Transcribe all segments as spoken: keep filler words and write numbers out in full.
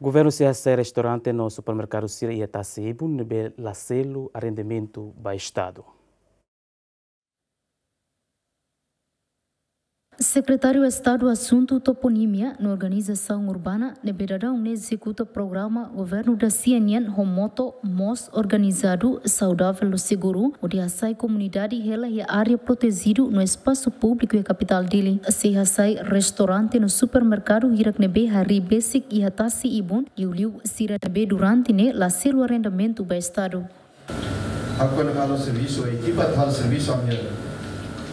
Governu sei hasai restaurante no supermerkadu sira iha tasi ibun ne'ebé la selu arrendamentu ba Estadu. Sekretáriu Estadu Asuntu Toponímia no Organizasaun Urbana ne'ebé daudaun ne'e ezekuta programa governu dasia nian ho moto Moos Organizadu, Saudavel no Seguru, hodi hasai komunidade hela iha área protejidu no espasu públiku iha kapitál Dili. Sei hasai restaurante no supermerkadu hirak ne'ebé harii besik iha tasi ibun, liuliu sira ne'ebé durante ne'e la selu arrendamentu ba Estadu. Ha'u kuandu halo servisu, ekipa atu halo servisu, ami-nia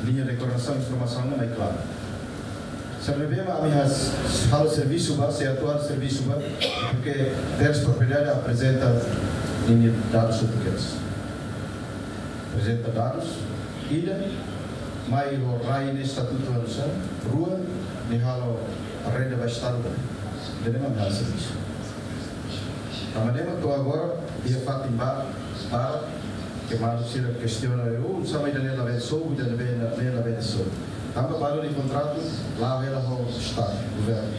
liña de koordenasaun informasaun ne'e mai klaru. Sira ne'ebé mak ami has-, halo servisu ba, sei atu halo servisu ba, porke terus propriedade aprezenta ninia dadus hotu kedas. Aprezenta dadus, ida, mai ho rai nia estatutu hanesan, rua, nia halo arrenda ba Estadu ba. Ida-ne'e mak ami halo servisu. Tanba ne'e mak to'o agora, iha fatin ba, ba, ke maluk sira kestiona, "Oh, oinsá mak ida-ne'e labele sobu, ida-ne'e labele, ne'e labele sobu." Tanba balu nia kontratu, la'o hela ho Estadu, governu.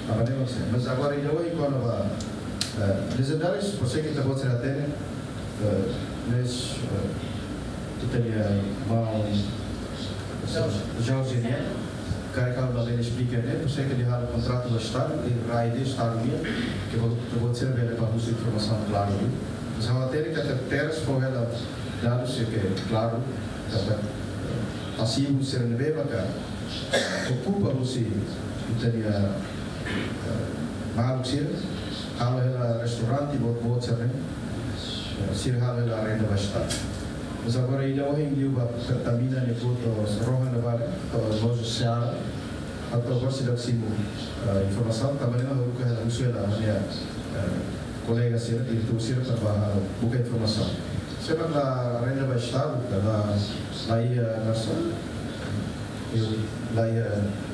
Tanba ne'e mak sei. Mas agora, ida ohin kona-ba, eh, lezendárius, por sei ke ita-boot sira hatene, eh, mas, eh, ita-nia maun, Jorge nian, karik ha'u labele esplika ne'e, por sei ke nia halo kontratu ho Estadu, i rai ida Estadu nian, ke bo-, ke ita-boot sira bele bá husu informasaun klaru liu. Mas ha'u hatene katak terus fó hela dadus ne'ebé klaru, katak, eh, pasivu sira ne'ebé maka okupa husi ita-nia, eh, maluk sira, halo hela restaurante boot-boot sira-ne'e, eh, sira halo hela arrenda ba Estadu. Mas agora ida ohin liu ba Pertamina nia postu rohan ne'ebá, eh, loja Seara, atu agora seidauk simu, eh, informasaun, tanba ne'e mak ha'u haruka hela husu hela ha'u-nia, eh, kolega sira, diretór sira, para bá buka informasaun. Sé mak la arrenda ba Estadu, ka la, la iha nasaun, la iha,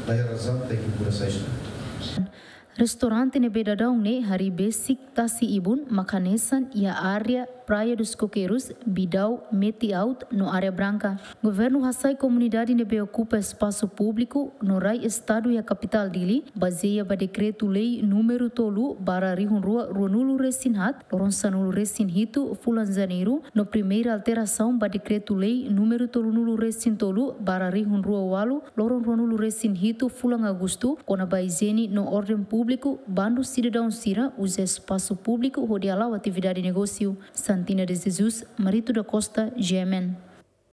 la iha razaun tenke kuda sai. Restaurante ne'ebé daudaun ne'e harii besik tasi ibun mak hanesan iha área Praia dos Coqueiros, Bidau, Meti Alto no Areia Branca. Governu hasai komunidade ne'ebé okupa espasu públiku no rai Estadu iha kapitál Dili, bazeia ba dekretu-lei númeru tolu barra rihun rua ruanulu resin haat, loron sanulu resin hitu fulan Janeiru, no primeira alterasaun ba dekretu-lei númeru tolunulu resin tolu barra rihun rua ualu, loron ruanulu resin hitu fulan Agostu, kona-ba ijiene no orden públiku, bandu sidadaun sira uza espasu públiku hodi hala'o atividade negósiu. Santina de Jesus, Marito da Costa, G M N.